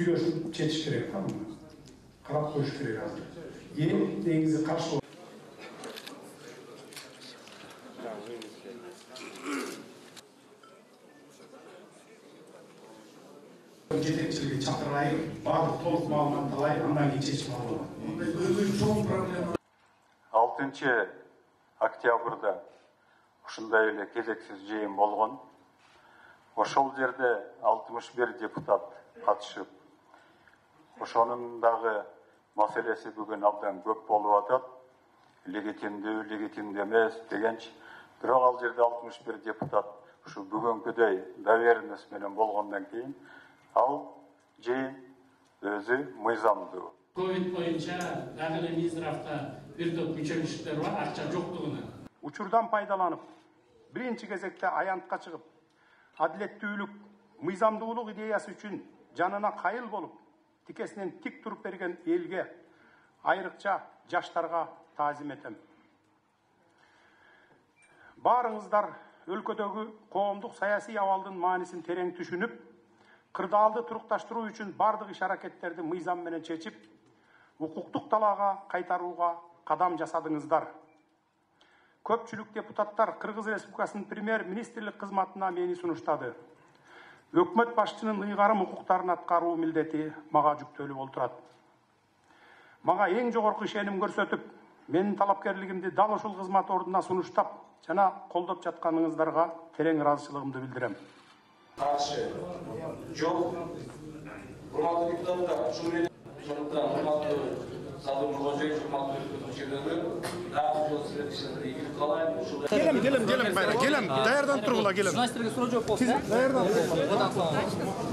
сүйлөшүп четиш керек да, муну карап коюш керек азыр. Эң негизи каршы жетекчилиги чакырайын, баардык толук маалымат алайын, андан кийин чечим алып алам. 6 октябрда ушундай эле кезексиз жыйын болгон. Ошол жерде 61 депутат катышып, ошонун дагы маселеси бүгүн абдан көп болуп атат. Легитимдүү, легитимдүү эмес дегенчи. Бирок ал жерде 61 депутат ушу бүгүнкүдөй доверенность менен болгондон кийин ал жыйын өзү мыйзамдуу. Ковид боюнча дагы эле Миздравда бир топ мүчөлүктөр бар, акча жоктугуна. Учурдан пайдаланып, биринчи кезекте аянтка чыгып, адилеттүүлүк, мыйзамдуулук идеясы үчүн жанына кайыл болуп, тикесинен тик туруп берген элге, айрыкча жаштарга таазим этем. Баарыңыздар өлкөдөгү коомдук саясий абалдын маанисин терең түшүнүп, кырдаалды турукташтыруу үчүн бардык иш-аракеттерди мыйзам менен чечип, укуктук талаага кайтарууга кадам жасадыңыздар. Көпчүлүк депутаттар Кыргыз Республикасынын премьер-министрлик кызматына мени сунуштады. Өкмөт башчынын ыйгарым укуктарын аткаруу милдети мага жүктөлүп олтурат. Мага эң жогорку ишеним көрсөтүп, менин талапкерлигимди дал ушул кызмат ордуна сунуштап жана колдоп жатканыңыздарга терең ыраазычылыгымды билдирем. Каршы жок. Урматтуу депутаттар, ушул менен урматтуу Садыр Нуркожоевич, урматтуу мүчөлөрү, дагы жол сүрөтчүлөрдү ийгилик каалайм. Келем, байра, келем, даярданып тургула, келем. Журналисттерге суроо жооп болсун. Даярданып.